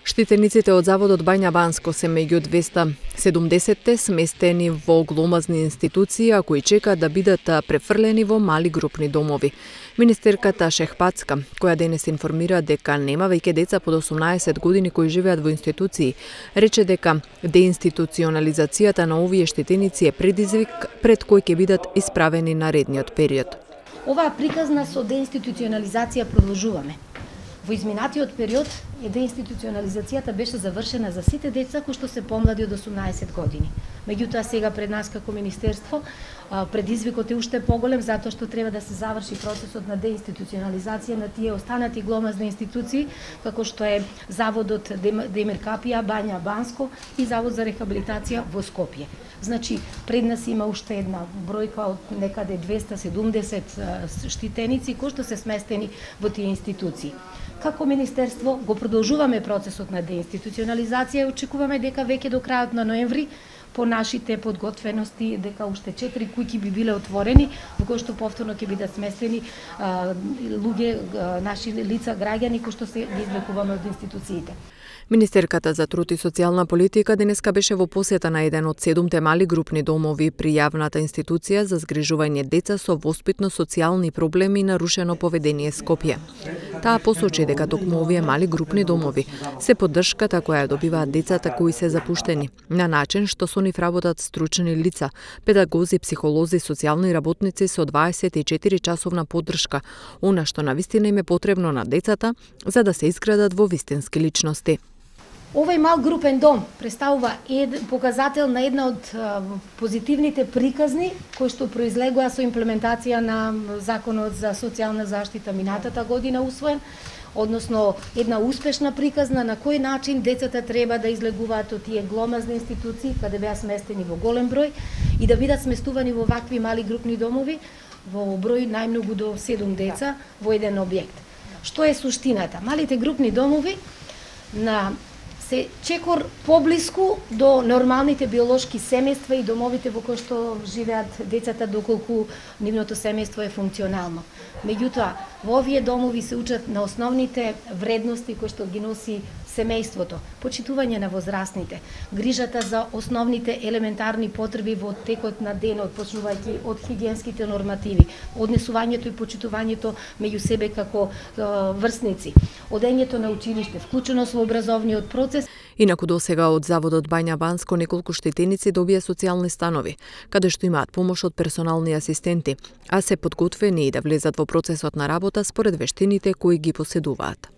Штитениците од Заводот Бања Банско се меѓу 270 сместени во гломазни институции, а кои чекаат да бидат префрлени во мали групни домови. Министерката Шехпацка, која денес информира дека нема веќе деца под 18 години кои живеат во институции, рече дека деинституционализацијата на овие штитеници е предизвик пред кој ќе бидат исправени наредниот период. Оваа приказна со деинституционализација продолжуваме. Во изминатиот период деинституционализацијата беше завршена за сите деца кои што се помлади од 18 години. Меѓутоа сега пред нас како министерство предизвикот е уште поголем затоа што треба да се заврши процесот на деинституционализација на тие останати гломазни институции како што е Заводот Демир Капија, Бања Банско и Завод за рехабилитација во Скопје. Значи, пред нас има уште една бројка од некаде 270 штитеници кои што се сместени во тие институции. Како министерство го продолжуваме процесот на деинституционализација и очекуваме дека веќе до крајот на ноември по нашите подготвености дека уште 4 куќи би биле отворени во кои што повторно ќе бидат сместени луѓе, наши лица, граѓани кои што се ги излекуваме од институциите. Министерката за труд и социјална политика денеска беше во посета на еден од 7 мали групни домови при јавната институција за згрижување деца со воспитно-социјални проблеми и нарушено поведение Скопје. Таа посочи дека токму овие мали групни домови се поддршката која ја добиваат децата кои се запуштени, на начин што со нив работат стручни лица, педагози, психолози, социјални работници со 24-часовна поддршка, она што навистина им е потребно на децата за да се изградат во вистински личности. Овој мал групен дом представува показател на една од позитивните приказни кои што произлегоа со имплементација на Законот за социјална заштита минатата година усвоен, односно една успешна приказна на кој начин децата треба да излегуваат од тие гломазни институции каде беа сместени во голем број и да бидат сместувани во вакви мали групни домови во број најмногу до 7 деца во еден објект. Што е суштината? Малите групни домови се чекор поблиску до нормалните биолошки семејства и домовите во кои што живеат децата доколку нивното семејство е функционално. Меѓутоа, во овие домови се учат на основните вредности кои што ги носи семејството, почитување на возрастните, грижата за основните елементарни потреби во текот на денот, почнувајќи од хигиенските нормативи, однесувањето и почитувањето меѓу себе како врсници, одењето на училиште, вклученост во образовниот процес. Инаку досега од Заводот Бања Банско неколку штитеници добија социјални станови, каде што имаат помош од персонални асистенти, а се подготвени и да влезат во процесот на работа според вештините кои ги поседуваат.